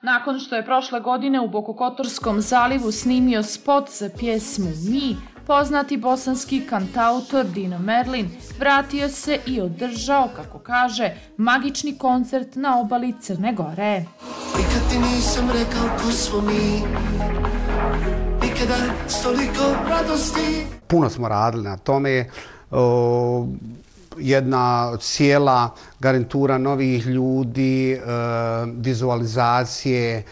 Nakon što je prošle godine u Bokokotorskom zalivu snimio spot za pjesmu Mi, poznati bosanski kantautor Dino Merlin vratio se i održao, kako kaže, magični koncert na obali Crne Gore. Nikad ti nisam rekao ko smo mi, nikada s toliko radosti. Puno smo radili na tome, jedna cijela garnitura novih ljudi, vizualizacije,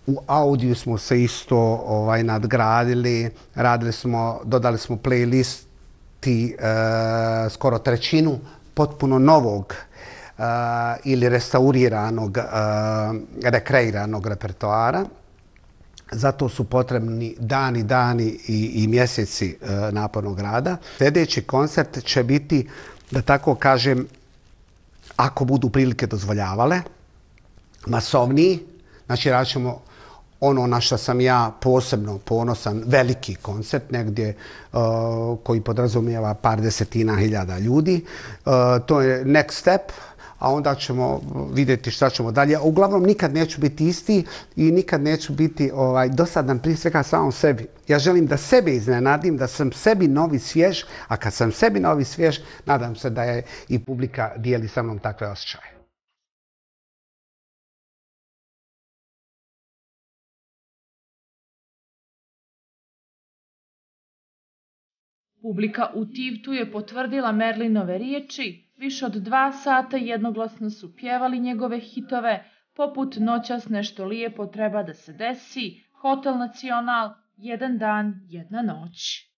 u audiju smo se isto nadgradili, dodali smo playlisti skoro trećinu potpuno novog ili restauriranog, rekreiranog repertoara. Zato su potrebni dani i mjeseci napornog rada. Sljedeći koncert će biti, da tako kažem, ako budu prilike dozvoljavale, masovniji. Znači, radit ćemo ono na što sam ja posebno ponosan, veliki koncert, negdje koji podrazumijeva par desetina hiljada ljudi. To je next step. A onda ćemo vidjeti šta ćemo dalje. Uglavnom, nikad neću biti isti i nikad neću biti dosadan prije svega samom sebi. Ja želim da sebe iznenadim, da sam sebi novi svjež, a kad sam sebi novi svjež, nadam se da je i publika dijeli sa mnom takve osjećaje. Publika u Tivtu je potvrdila Merlinove riječi. Više od 2 sata jednoglasno su pjevali njegove hitove, poput Noćas nešto lijepo treba da se desi, Hotel Nacional, Jedan dan, jedna noć.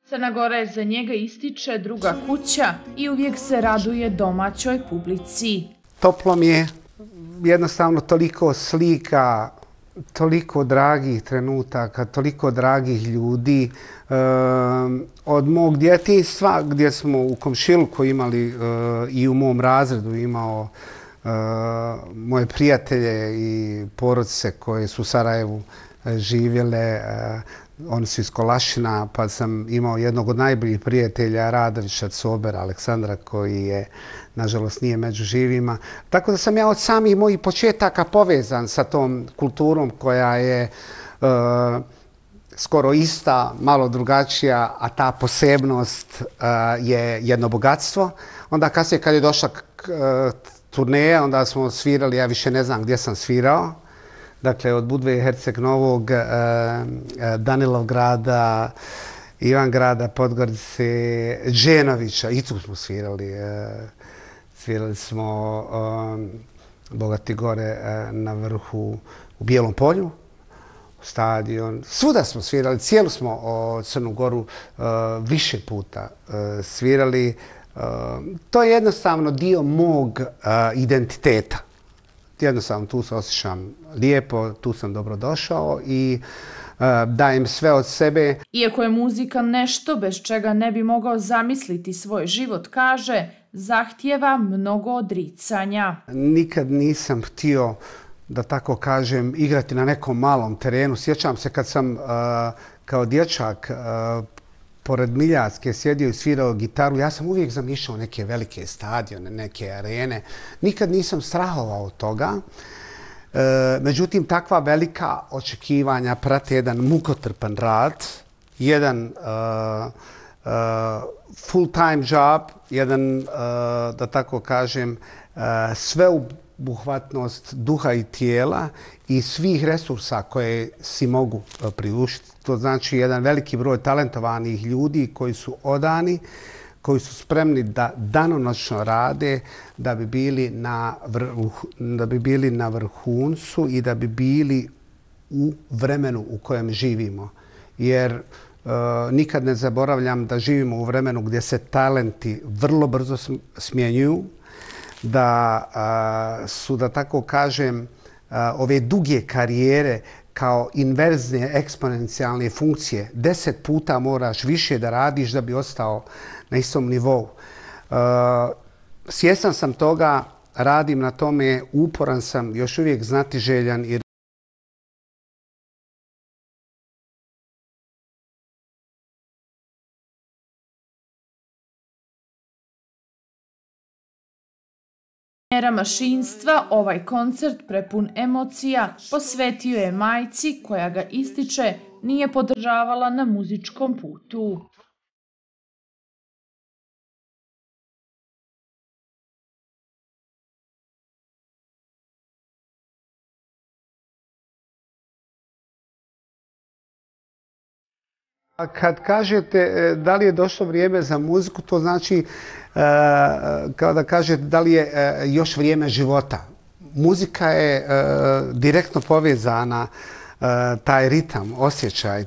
Crna Gora za njega ističe druga kuća i uvijek se raduje domaćoj publici. Toplo mi je. Jednostavno toliko slika, toliko dragih trenutaka, toliko dragih ljudi. Od mog djetinjstva gdje smo u komšiluku imali i u mom razredu imao moje prijatelje i porodice koje su u Sarajevu živjele. Oni su iz Kolašina, pa sam imao jednog od najboljih prijatelja, Radovića Cobera, Aleksandra, koji je, nažalost, nije među živima. Tako da sam ja od samih mojih početaka povezan sa tom kulturom koja je skoro ista, malo drugačija, a ta posebnost je jedno bogatstvo. Onda kasnije kad je došla turneja, onda smo svirali, ja više ne znam gdje sam svirao. Dakle, od Budve Herceg Novog, Danilovgrada, Ivangrada, Podgorice, Dženovića, i tu smo svirali. Svirali smo Bogati gore na vrhu u Bijelom polju, stadion. Svuda smo svirali, cijelu smo Crnu Goru više puta svirali. To je jednostavno dio mog identiteta. Jednostavno tu se osjećam lijepo, tu sam dobrodošao i dajem sve od sebe. Iako je muzika nešto bez čega ne bi mogao zamisliti svoj život, kaže, zahtijeva mnogo odricanja. Nikad nisam htio, da tako kažem, igrati na nekom malom terenu. Sjećam se kad sam kao dječak pored Miljacke sjedio i svirao gitaru, ja sam uvijek zamišljao neke velike stadione, neke arene. Nikad nisam strahovao od toga. Međutim, takva velika očekivanja prate jedan mukotrpan rad, jedan full-time job, jedan, da tako kažem, sveobuhvatnost duha i tijela i svih resursa koje si mogu priuštiti. To znači jedan veliki broj talentovanih ljudi koji su odani, koji su spremni da danonoćno rade da bi bili na vrhuncu i da bi bili u vremenu u kojem živimo. Jer nikad ne zaboravljam da živimo u vremenu gdje se talenti vrlo brzo smjenjuju, da su, da tako kažem, ove duge karijere kao inverzne eksponencijalne funkcije. 10 puta moraš više da radiš da bi ostao na istom nivou. Svjestan sam toga, radim na tome, uporan sam, još uvijek znatiželjan i Era mašinstva ovaj koncert prepun emocija posvetio je majci koja ga ističe nije podržavala na muzičkom putu. Kad kažete da li je došlo vrijeme za muziku, to znači kao da kažete da li je još vrijeme života. Muzika je direktno povezana, taj ritam, osjećaj,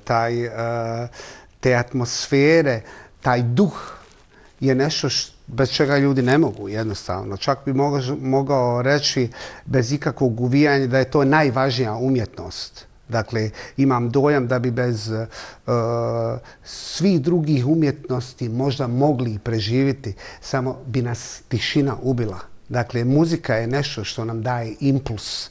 te atmosfere, taj duh je nešto bez čega ljudi ne mogu jednostavno. Čak bi mogao reći bez ikakvog uvijanja da je to najvažnija umjetnost. Dakle, imam dojam da bi bez svih drugih umjetnosti možda mogli preživjeti, samo bi nas tišina ubila. Dakle, muzika je nešto što nam daje impuls.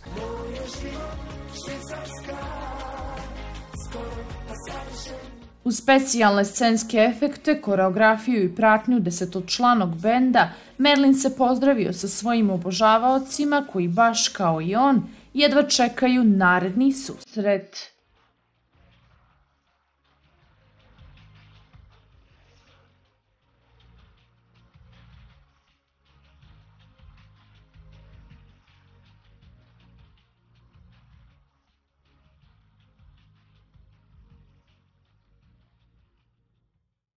Uz specijalne scenske efekte, koreografiju i pratnju desetočlanog benda, Merlin se pozdravio sa svojim obožavaocima koji baš kao i on jedva čekaju naredni susret.